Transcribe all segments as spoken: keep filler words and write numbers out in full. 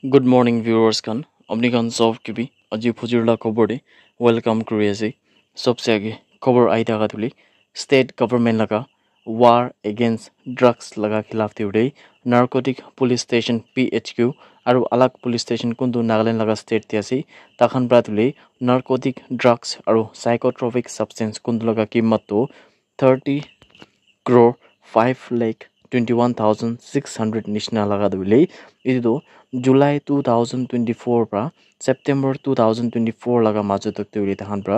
Good morning, viewers khan. Apni khan sob ke bi aji phujir la khobor de welcome kuri ase. Sobse age khobor ahi thaka tu hoile state government laga war against drugs laga khilaf te hoile narcotic police station, P H Q, aru alag police station kuntu Nagaland laga state te ase, takhan pra tu hoile narcotic drugs aru psychotropic substance kuntu laga kimat tu thirty crore five lakh twenty one thousand six hundred nishina laga tu hoile, etu tu July two thousand twenty four pra September two thousand twenty four laga majo tak tu hoile takhan pra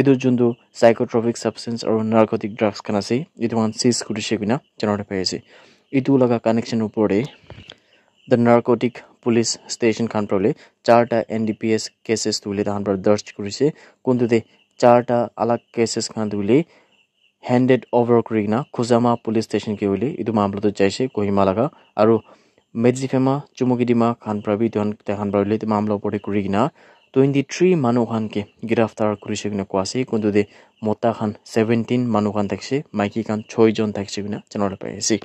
etu juntu psychotropic substance aru narcotic drugs khan ase, etu khan seize kurishe koina janabole pai ase. Etu laga connection opor te the narcotic police station khan pra hoile charta N D P S cases tu hoile takhan pra darj kurishe, kuntu te charta alag cases khan tu hoile handed over kuri kena Khuzama police station ke hoile etu mamla tu jaise Kohima laga, aru Medziphema, Chumukidima khan pra bi etu khan, tai khan pra hoile etu mamla opor te kuri kena twenty three manu khan ke giraftar kurishe koina koa ase, kuntu te mota khan seventeen manu khan thakishe, maiki khan choi jon thakishe koina janabole pai ase.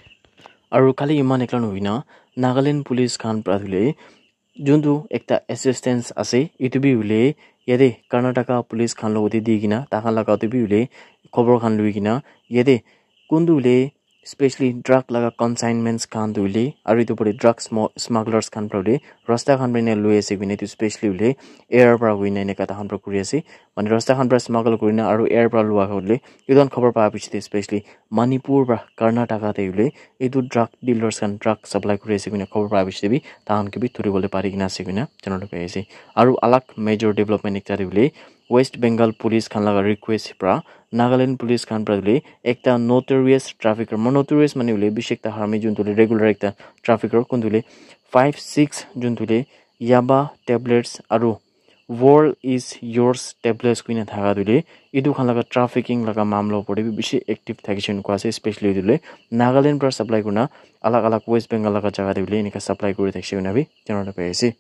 Aru khali eman ekla nohoi na Nagaland police khan pra hoile juntu ekta assistance ase, etu bi hoile yate Karnataka police khan logote di kena takhan laga te bi hoile khobor khan lui kena yate kuntu hoile specially drug laga consignments khan tu hoile aru etu pore drug smo- smugglers khan pra hoile rasta khan pra ena lui ase koina etu specially hoile air pra hoina eneka takhan pra kuri ase, mane rasta khan pra smuggle kurina aru air pra lua hoile etu khan khobor pa piche te specially Manipur pra Karnataka te hoile etu drug dealers khan drug supply kuri ase koina khobor pa piche te bi takhan ke bi thuribole pari kena ase koina janabole pai ase. Aru alag major development ekta te hoile West Bengal police khan laga request pra Nagaland police khan pra hoile ekta notorious trafficker, mo notorious mane hoile bishi ekta harmi juntu hoile regular ekta trafficker kuntu hoile five six juntu hoile yaba tablets aru World is Yours tablets kuina thaka tu hoile etu khan laga trafficking laga mamla opor te bi bishi active thakishe koina koa ase, especially etu hoile Nagaland pra supply kurina alag alag West Bengal laga jaga te hoile eneka supply kuri thakishe koina bi janabole pai ase.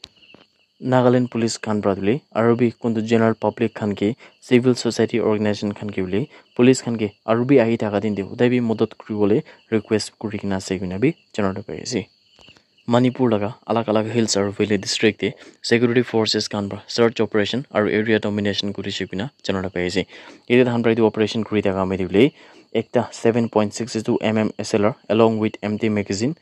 Nagaland police khan pra tu hoile aru bi kuntu general public khan ke civil society organization khan ke hoile police khan ke aru bi ahi thaka din te hudai bi madad kuribole request kuri kena ase koina bi janabole pai ase. Manipur laga alag alag hills aru valley district te security forces khan pra search operation aru area domination kurishe koina janabole pai ase. Yate takhan pra etu operation kuri thaka moi tu hoile ekta seven point six two M M S L R along with empty magazine,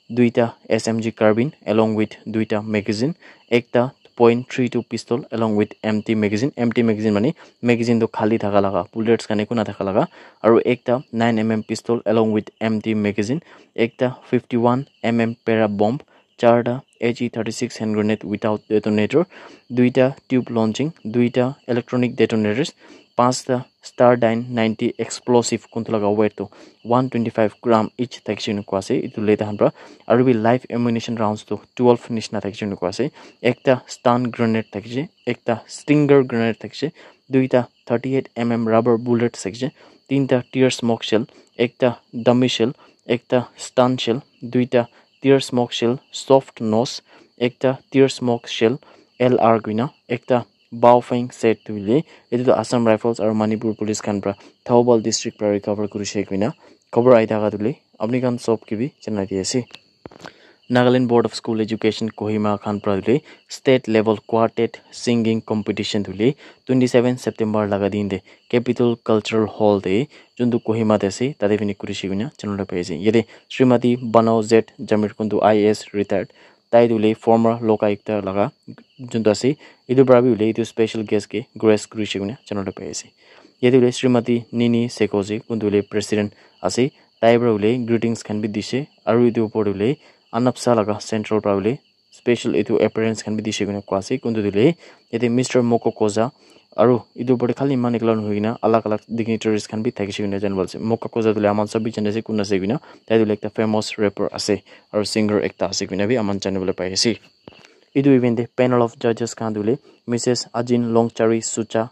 duita S M G carbine along with duita magazine, ekta point three two pistol along with empty magazine. Empty magazine mane magazine tu khali thaka laga, bullets khan eku na thaka laga, aru ekta nine M M pistol along with empty magazine, ekta fifty one M M para bomb, charta A G thirty six hand grenade without detonator, duita tube launching, duita electronic detonators, pasta Stardyne ninety explosive kuntu laga weight tu one twenty five gram each thakishe koina koa ase etu le takhan pra, aru bi live ammunition rounds tu twelve nishina thakishe koina koa ase, ekta stun grenade thakishe, ekta stinger grenade thakishe, duita thirty eight M M rubber bullet thakishe, tinta tear smoke shell, ekta dummy shell, ekta stun shell, duita tear smoke shell soft nose, ekta tear smoke shell L R koina, ekta Baofeng set tu hoile etu tu Assam Rifles aru Manipur Police khan pra Thoubal district pra recover kurishe koina khobor ahi thaka tu hoile apni khan sob ke bi janai di ase. Nagaland Board of School Education Kohima khan pra hoile state level quartet singing competition tu hoile twenty seven September laga din te Capitol Cultural Hall te juntu Kohima te ase tate bi kurishe koina janabole pai ase. Yate Srimati Banao Z Jamir kuntu I A S retired, tai tu hoile former lokaayukta laga juntu ase, etu pra bi hoile etu special guest ke grace kurishe koina janabole pai ase. Yate hoile Srimati Nini Sekoji kuntu hoile president ase, tai pra hoile greetings khan bi dishe aru etu opor te hoile Anapsa laga central pra hoile special etu appearance khan bi dishe koina koa ase. Kuntu tu hoile yate Mister Moko Koza aru etu opor te khali eman ekla nohoi kena alag alag dignitaries khan bi thakishe koina janabole ase. Moko Koza tu hoile aman sob bi jane ase kun ase koina, tai tu hoile ekta famous rapper ase aru singer ekta ase koina bi aman janabole pai ase. Etu event te panel of judges khan tu hoile Missus Ajin Longchari Sucha,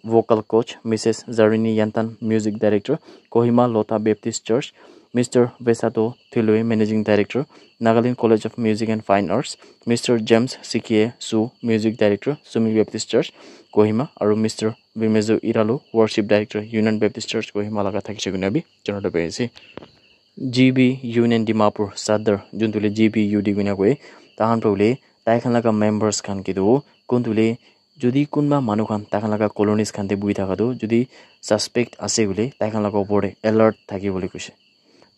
vocal coach, Missus Zarini Yantan, music director, Kohima Lotha Baptist Church, Mister Vesato Thiloi, managing director, Nagaland College of Music and Fine Arts, Mister James Sikie Su, music director, Sumi Baptist Church, Kohima, aru Mister Vimezo Iralu, worship director, Union Baptist Church, Kohima laga thakishe koina bi janabole pai ase. G B Union Dimapur Sadar, juntu hoile G B U D koina koi, tahan pra hoile tai khan laga members khan ke tu kuntu le jodi kunba manu khan tai khan laga colonies khan te buhi thaka tu jodi suspect ase koile tai khan laga opor te alert thaki bole koise.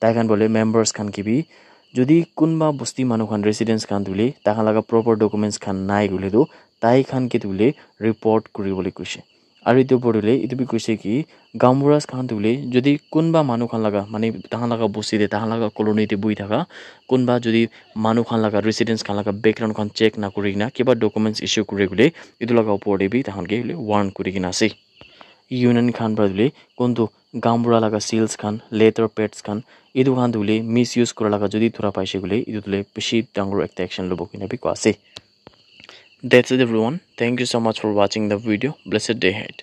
Tai khan bole members khan ke bi jodi kunba bosti manu khan residents khan tu le tai khan laga proper documents khan nai koile tu tai khan ke tu le report kuri bole koise. Aru etu opor te etu bi koise ki gaonburas khan tu le jodi kunba manu khan laga mane tai khan laga bosti te tai khan laga colony te buhi thaka kunba jodi manu khan laga residents khan laga background khan check na kuri kena kiba documents issue kuri koile etu laga opor te bi tai khan ke warn kuri kena ase. Union khan para tu le kuntu gaonbura laga seals khan leather pads khan etu khan tu le misuse kura laga jodi thura paise koile etu tu le bishi dangor ekta action lobo kena bi koa ase. That's it everyone. Thank you so much for watching the video. Blessed day ahead.